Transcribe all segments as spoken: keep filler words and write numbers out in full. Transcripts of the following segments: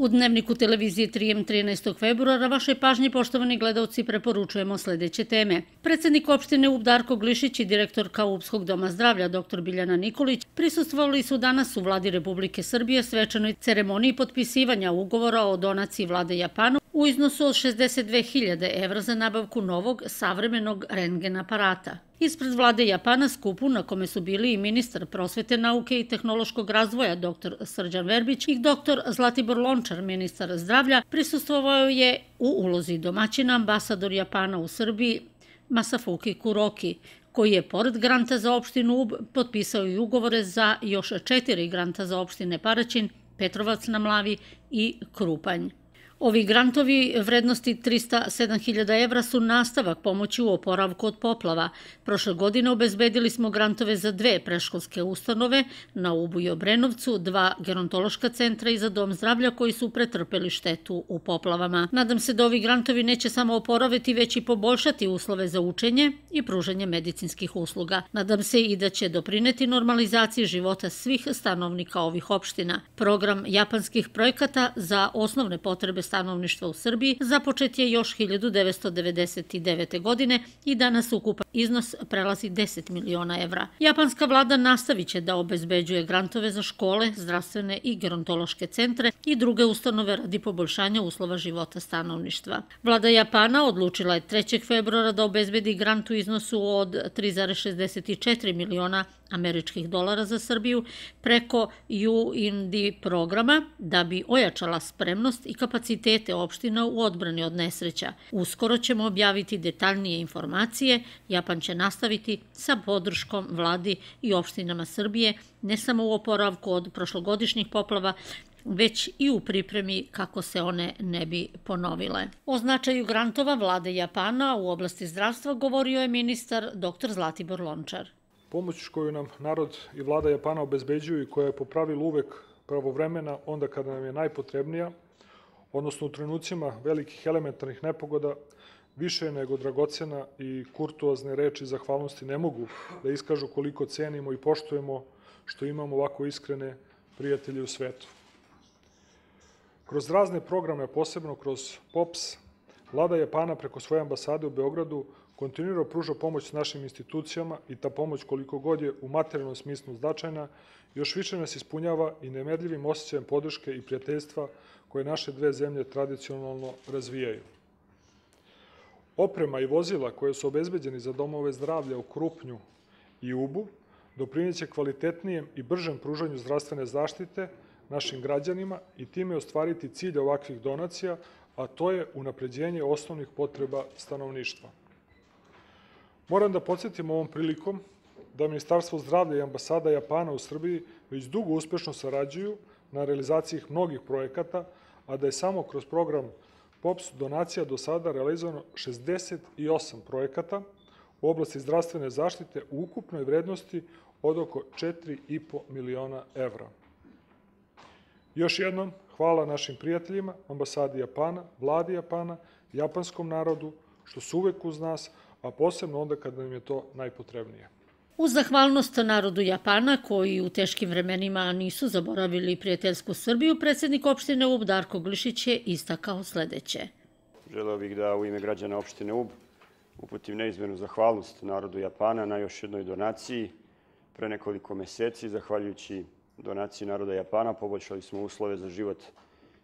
U Dnevniku televizije tri em trinaestog februara vašoj pažnji, poštovani gledalci, preporučujemo sledeće teme. Predsednik opštine Ub Darko Glišić i direktorka Ubskog doma zdravlja dr Biljana Nikolić prisustvovali su danas u Vladi Republike Srbije svečanoj ceremoniji potpisivanja ugovora o donaciji Vlade Japana u iznosu od šezdeset dve hiljade evra za nabavku novog savremenog rentgen aparata. Ispred Vlade Japana skupu na kome su bili i ministar prosvete, nauke i tehnološkog razvoja dr Srđan Verbić i dr Zlatibor Lončar, ministar zdravlja, prisustvovao je u ulozi domaćina ambasador Japana u Srbiji Masafuki Kuroki, koji je pored granta za opštinu Ub potpisao i ugovore za još četiri granta za opštine Paraćin, Petrovac na Mlavi i Krupanj. Ovi grantovi vrednosti trista sedam hiljada evra su nastavak pomoći u oporavku od poplava. Prošle godine obezbedili smo grantove za dve predškolske ustanove na Ubu i Obrenovcu, dva gerontološka centra i za dom zdravlja koji su pretrpeli štetu u poplavama. Nadam se da ovi grantovi neće samo oporaviti, već i poboljšati uslove za učenje i pružanje medicinskih usluga. Nadam se i da će doprineti normalizaciji života svih stanovnika ovih opština. Program japanskih projekata za osnovne potrebe stanovništva u Srbiji započet je još hiljadu devetsto devedeset devete. godine i danas ukupan iznos prelazi deset miliona evra. Japanska vlada nastavit će da obezbeđuje grantove za škole, zdravstvene i gerontološke centre i druge ustanove radi poboljšanja uslova života stanovništva. Vlada Japana odlučila je trećeg februara da obezbedi grant u iznosu od tri zarez šezdeset četiri miliona američkih dolara za Srbiju preko U N D programa da bi ojačala spremnost i kapacitete opština u odbrani od nesreća. Uskoro ćemo objaviti detaljnije informacije. Japan će nastaviti sa podrškom vladi i opštinama Srbije, ne samo u oporavku od prošlogodišnjih poplava, već i u pripremi kako se one ne bi ponovile. O značaju grantova vlade Japana u oblasti zdravstva govorio je ministar dr Zlatibor Lončar. Pomoć koju nam narod i vlada Japana obezbeđuju i koja je po pravilu uvek pravovremena onda kada nam je najpotrebnija, odnosno u trenucima velikih elementarnih nepogoda, više je nego dragocena i kurtuozne reči zahvalnosti ne mogu da iskažu koliko cenimo i poštujemo što imamo ovako iskrene prijatelje u svetu. Kroz razne programe, posebno kroz P O P S, vlada Japana preko svoje ambasade u Beogradu kontinuirano pruža pomoć našim institucijama i ta pomoć, koliko god je u materijalnom smislu značajna, još više nas ispunjava i nemerljivim osjećajem podrške i prijateljstva koje naše dve zemlje tradicionalno razvijaju. Oprema i vozila koje su obezbeđeni za domove zdravlja u Krupnju i Ubu doprineće kvalitetnijem i bržem pružanju zdravstvene zaštite našim građanima i time ostvariti cilj ovakvih donacija, a to je unapređenje osnovnih potreba stanovništva. Moram da podsjetim ovom prilikom da Ministarstvo zdravlja i ambasada Japana u Srbiji već dugo uspešno sarađuju na realizaciji mnogih projekata, a da je samo kroz program P O P S donacija do sada realizovano šezdeset osam projekata u oblasti zdravstvene zaštite u ukupnoj vrednosti od oko četiri i po miliona evra. Još jednom, hvala našim prijateljima, ambasadi Japana, vladi Japana, japanskom narodu, što su uvek uz nas, a posebno onda kada nam je to najpotrebnije. Uz zahvalnost narodu Japana, koji u teškim vremenima nisu zaboravili prijateljsku Srbiju, predsednik opštine Ub Darko Glišić je istakao sledeće. Želeo bih da u ime građana opštine Ub uputim neizmernu zahvalnost narodu Japana na još jednoj donaciji. Pre nekoliko meseci, zahvaljujući donaciji naroda Japana, poboljšali smo uslove za život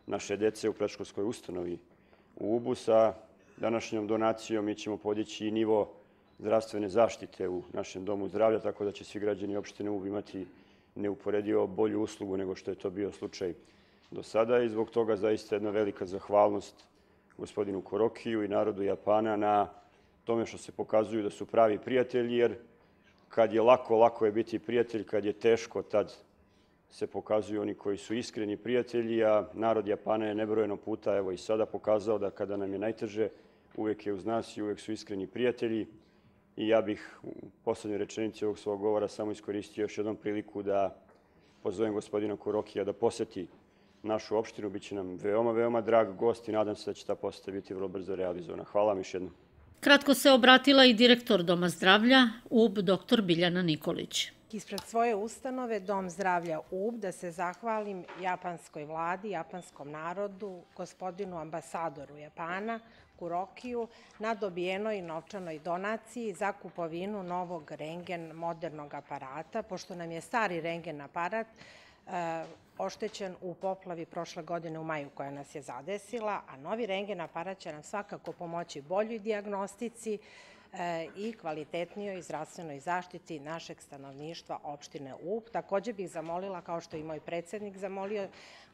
naše dece u predškolskoj ustanovi u Ubu. Sa današnjom donacijom mi ćemo podići i nivo zdravstvene zaštite u našem domu zdravlja, tako da će svi građani opštine Ub imati neuporedivo bolju uslugu nego što je to bio slučaj do sada i zbog toga zaista jedna velika zahvalnost gospodinu Kurokiju i narodu Japana na tome što se pokazuju da su pravi prijatelji, jer kad je lako, lako je biti prijatelj, kad je teško, tad se pokazuju oni koji su iskreni prijatelji, a narod Japana je nebrojeno puta, evo i sada, pokazao da kada nam je najteže, uvek je uz nas i uvek su iskreni prijatelji. I ja bih u poslednjoj rečenici ovog svog govora samo iskoristio još jednom priliku da pozovem gospodina Kurokija da poseti našu opštinu. Biće nam veoma, veoma drag gost i nadam se da će ta poseta biti vrlo brzo realizovana. Hvala vam još jednom. Kratko se obratila i direktor Doma zdravlja Ub dr Biljana Nikolić. ispred svoje ustanove Dom zdravlja Ub da se zahvalim japanskoj vladi, japanskom narodu, gospodinu ambasadoru Japana, Kurokiju, na dobijenoj novčanoj donaciji za kupovinu novog rengen modernog aparata, pošto nam je stari rengen aparat oštećen u poplavi prošle godine u maju koja nas je zadesila, a novi rengen aparat će nam svakako pomoći boljoj dijagnostici i kvalitetnijoj zdravstvenoj zaštiti našeg stanovništva opštine Ub. Takođe bih zamolila, kao što i moj predsednik zamolio,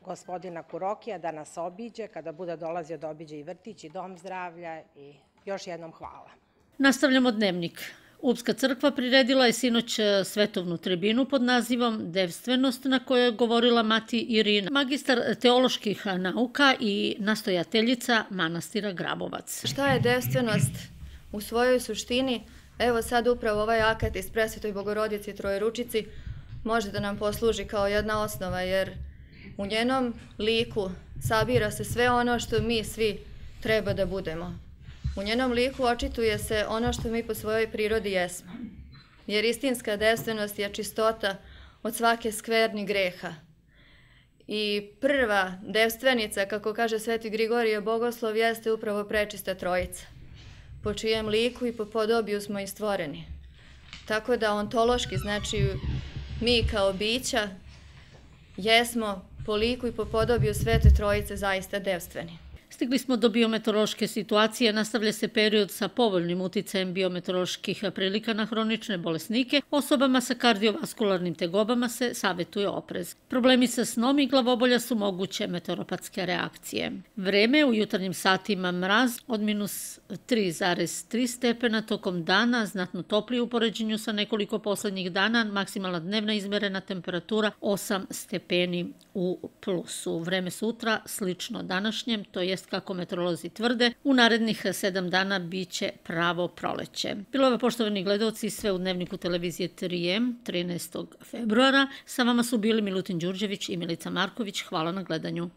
gospodina Kurokija da nas obiđe, kada bude dolazio da obiđe i vrtić i dom zdravlja i još jednom hvala. Nastavljamo dnevnik. Upska crkva priredila je sinoć svetovnu tribinu pod nazivom Devstvenost, na kojoj je govorila mati Irina, magistar teoloških nauka i nastojateljica manastira Grabovac. Šta je devstvenost u svojoj suštini? Evo sad upravo ovaj akat iz Presvetoj Bogorodici Trojeručici može da nam posluži kao jedna osnova, jer u njenom liku sabira se sve ono što mi svi treba da budemo. U njenom liku očituje se ono što mi po svojoj prirodi jesmo. Jer istinska devstvenost je čistota od svake skverni greha. I prva devstvenica, kako kaže Sveti Grigorije Bogoslov, jeste upravo prečista Trojica, po čijem liku i po podobiju smo i stvoreni. Tako da ontološki, znači mi kao bića, jesmo po liku i po podobiju Svete Trojice zaista devstveni. Stigli smo do biometeorološke situacije, nastavlja se period sa povoljnim uticajem biometeoroloških prilika na hronične bolesnike. Osobama sa kardiovaskularnim tegobama se savjetuje oprez. Problemi sa snom i glavobolja su moguće meteoropatske reakcije. Vreme u jutarnjim satima mraz od minus tri zarez tri stepena, tokom dana znatno toplije u poređenju sa nekoliko poslednjih dana, maksimalna dnevna izmerena temperatura osam stepeni u plusu. Vreme sutra slično današnjem, to jest kako meteorolozi tvrde, u narednih sedam dana biće pravo proleće. Bilo je, poštovani gledalci, sve u dnevniku televizije tri em trinaestog februara. Sa vama su bili Milutin Đurđević i Milica Marković. Hvala na gledanju.